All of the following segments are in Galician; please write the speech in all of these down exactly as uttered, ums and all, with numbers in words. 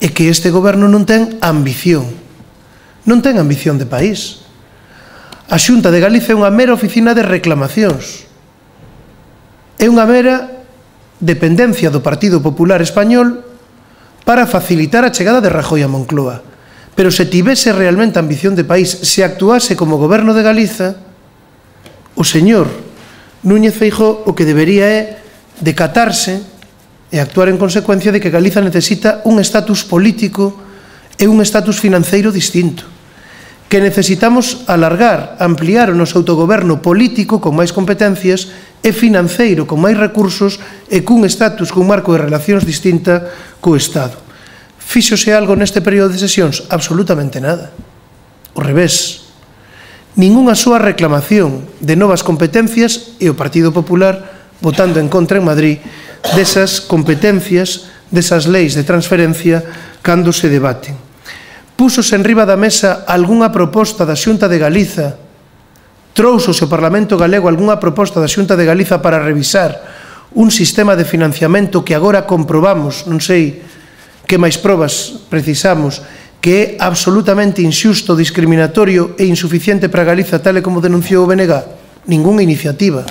é que este goberno non ten ambición, non ten ambición de país. A Xunta de Galicia é unha mera oficina de reclamacións, é unha mera dependencia do Partido Popular Español para facilitar a chegada de Rajoy a Moncloa. Pero se tivese realmente ambición de país, se actuase como goberno de Galiza, o señor Núñez Feijóo o que debería é decatarse e actuar en consecuencia de que Galiza necesita un estatus político e un estatus financeiro distinto, que necesitamos alargar, ampliar o noso autogoberno político con máis competencias e financeiro con máis recursos e cun estatus, cun marco de relacións distinta co Estado. Fíxose algo neste período de sesións? Absolutamente nada. O revés. Ninguna súa reclamación de novas competencias e o Partido Popular votando en contra en Madrid desas competencias, desas leis de transferencia cando se debaten. Púsose en riba da mesa algunha proposta da Xunta de Galiza, trousose o Parlamento Galego algunha proposta da Xunta de Galiza para revisar un sistema de financiamento que agora comprobamos, non sei que máis probas precisamos, que é absolutamente inxusto, discriminatorio e insuficiente para Galiza, tal e como denunciou o B N G? Ninguna iniciativa.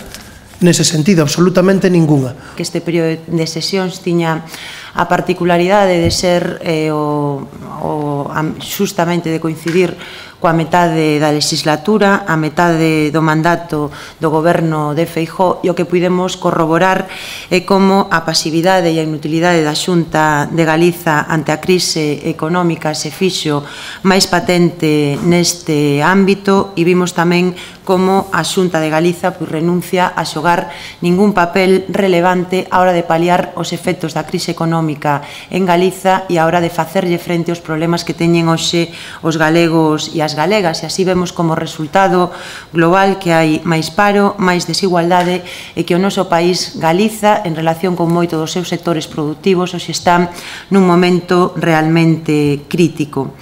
Nese sentido, absolutamente ninguna. Que este período de sesións tiña a particularidade de ser eh, o, o, justamente de coincidir coa metade da legislatura, a metade do mandato do goberno de Feijóo, e o que pudemos corroborar é como a pasividade e a inutilidade da Xunta de Galiza ante a crise económica se fixo máis patente neste ámbito, e vimos tamén como a Xunta de Galiza pois, renuncia a xogar ningún papel relevante á hora de paliar os efectos da crise económica en Galiza e á hora de facerlle frente aos problemas que teñen hoxe os galegos e as galegas, e así vemos como resultado global que hai máis paro, máis desigualdade e que o noso país, Galiza, en relación con moito dos seus sectores productivos, hoxe está nun momento realmente crítico.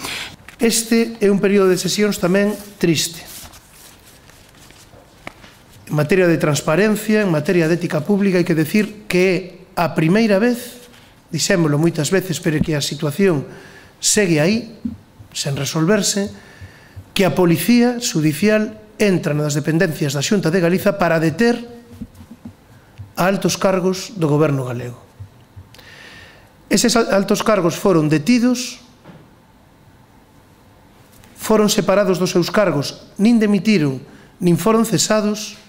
Este é un período de sesións tamén triste. En materia de transparencia, en materia de ética pública, hai que decir que é a primeira vez, dixémolo moitas veces, pero que a situación segue aí, sen resolverse, que a Policía Judicial entra nas dependencias da Xunta de Galiza para deter a altos cargos do goberno galego. Eses altos cargos foron detidos, foron separados dos seus cargos, nin demitiron, nin foron cesados.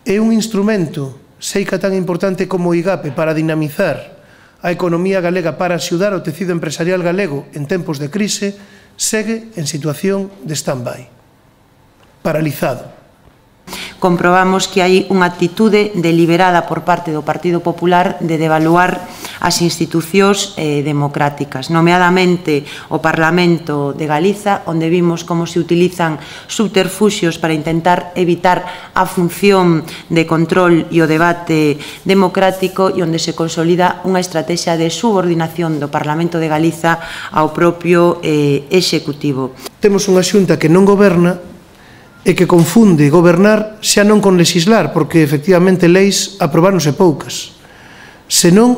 É un instrumento, seica tan importante como o IGAPE, para dinamizar a economía galega, para axudar o tecido empresarial galego en tempos de crise, segue en situación de stand-by, paralizado. Comprobamos que hai unha actitude deliberada por parte do Partido Popular de devaluar as institucións eh, democráticas, nomeadamente o Parlamento de Galiza, onde vimos como se utilizan subterfuxios para intentar evitar a función de control e o debate democrático, e onde se consolida unha estrategia de subordinación do Parlamento de Galiza ao propio eh, Executivo. Temos unha xunta que non goberna e que confunde gobernar xa non con legislar, porque efectivamente leis aprobáronse poucas, senón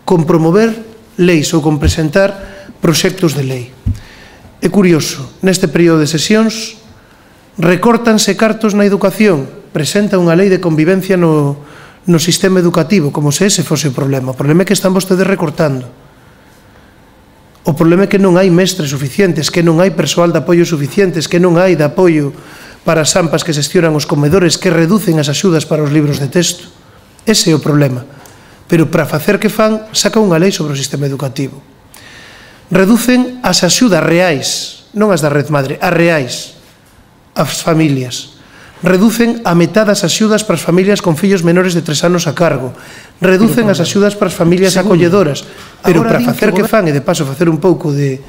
con promover leis ou con presentar proxectos de lei. É curioso, neste período de sesións recórtanse cartos na educación, presenta unha lei de convivencia no, no sistema educativo, como se ese fose o problema. O problema é que están vostedes recortando. O problema é que non hai mestres suficientes, que non hai persoal de apoio suficientes, que non hai de apoio para as AMPAs que xestionan os comedores, que reducen as axudas para os libros de texto. Ese é o problema. Pero para facer que fan, saca unha lei sobre o sistema educativo. Reducen as axudas reais, non as da Red Madre, as reais, as familias. Reducen a metade as axudas para as familias con fillos menores de tres anos a cargo. Reducen as axudas para as familias acolledoras. Pero para facer que fan, e de paso facer un pouco de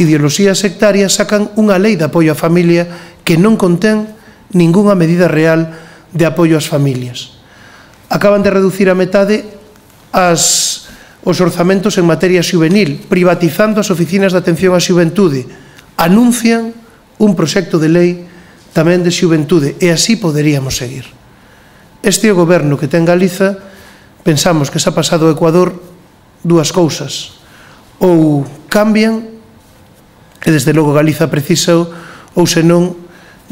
ideoloxía sectaria, sacan unha lei de apoio á familia que non contén ningunha medida real de apoio ás familias. Acaban de reducir a metade as, os orzamentos en materia xuvenil, privatizando as oficinas de atención á xuventude. Anuncian un proxecto de lei tamén de xuventude, e así poderíamos seguir. Este é o goberno que ten Galiza. Pensamos que se ha pasado ao Ecuador dúas cousas: ou cambian, e desde logo Galiza precisa, ou senón,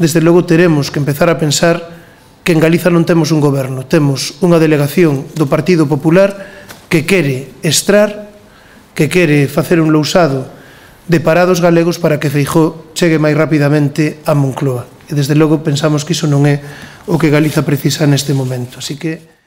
desde logo teremos que empezar a pensar que en Galiza non temos un goberno, temos unha delegación do Partido Popular que quere estrar, que quere facer un lousado de parados galegos para que Feijóo chegue máis rapidamente a Moncloa. E desde logo pensamos que iso non é o que Galiza precisa neste momento. Así que